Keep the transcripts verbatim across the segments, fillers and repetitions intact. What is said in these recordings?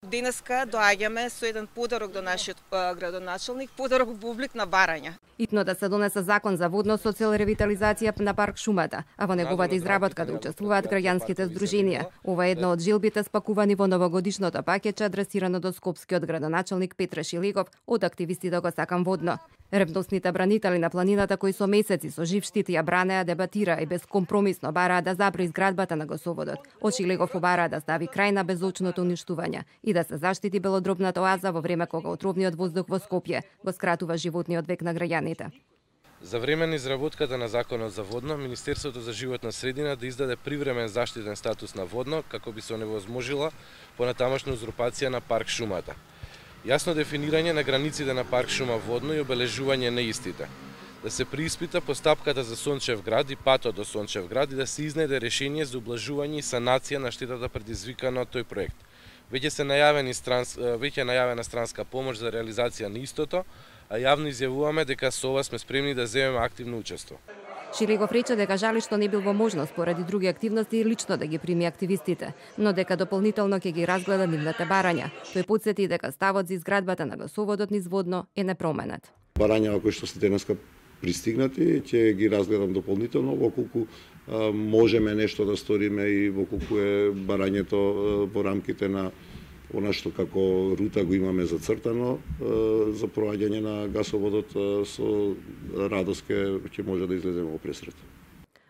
Денеска доаѓаме со еден подарок до нашиот градоначалник, подарок во облик на барања. Итно да се донесе закон за водно со цел ревитализација на парк Шумата, а во неговата изработка да учествуваат граѓанските здруженија. Ова е една од жилбите спакувани во новогодишното пакетче адресирано до скопскиот градоначалник Петре Шилегов од активистите го сакам водно. Ревностните бранители на планината кои со месеци со жив штит ја бранеа, дебатира и безкомпромисно бараа да забри изградбата на гасоводот. Од Шилегов побараа да стави крај на безочното уништување и да се заштити белодробната оаза во време кога отровниот воздух во Скопје го скратува животниот век на граѓаните. За време на изработката на законот за водно, Министерството за животна средина да издаде привремен заштитен статус на водно како би се оневозможила понатамошна узурпација на парк Шумата. Јасно дефинирање на границите на парк Шума водно и обележување на истите. Да се преиспита постапката за Сончев град и патот до Сончев град и да се изнеде решение за ублажување и санација на штетата предизвикана од тој проект. Веќе се најавени странс, веќе најавена странска помош за реализација на истото, а јавно изјавуваме дека со ова сме спремни да земеме активно учество. Шилегов рече дека жали што не бил во можност поради други активности лично да ги прими активистите, но дека дополнително ќе ги разгледа нивните барања. Тој потсети дека ставот за изградбата на гасоводот низ водно е непроменет. Барања кои што се денеска пристигнати, ќе ги разгледам дополнително во колку а, можеме нешто да сториме и во колку е барањето а, во рамките на она што како рута го имаме зацртано за проаѓање на гасоводот, со радост ќе може да излеземе во пресрет.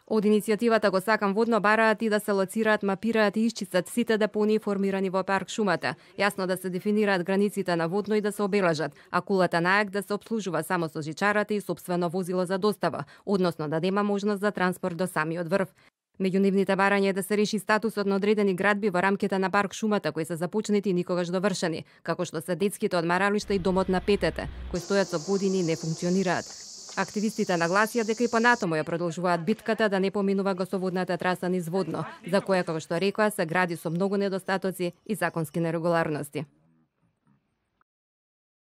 Од иницијативата го сакам водно бараат и да се лоцираат, мапираат и исчистат сите депонии формирани во парк Шумата, јасно да се дефинираат границите на водно и да се обележат, а кулата на АЕК да се обслужува само со жичарата и сопствено возило за достава, односно да нема можност за транспорт до самиот врв. Меѓу нивните барања е да се реши статусот на одредени градби во рамките на парк Шумата кои се започнати и никогаш довршени, како што се детските одмаралишта и домот на петете, кои стојат со години и не функционираат. Активистите нагласија дека и понатаму ја продолжуваат битката да не поминува гасоводната траса низ водно, за која, како што рекоа, се гради со многу недостатоци и законски нерегуларности.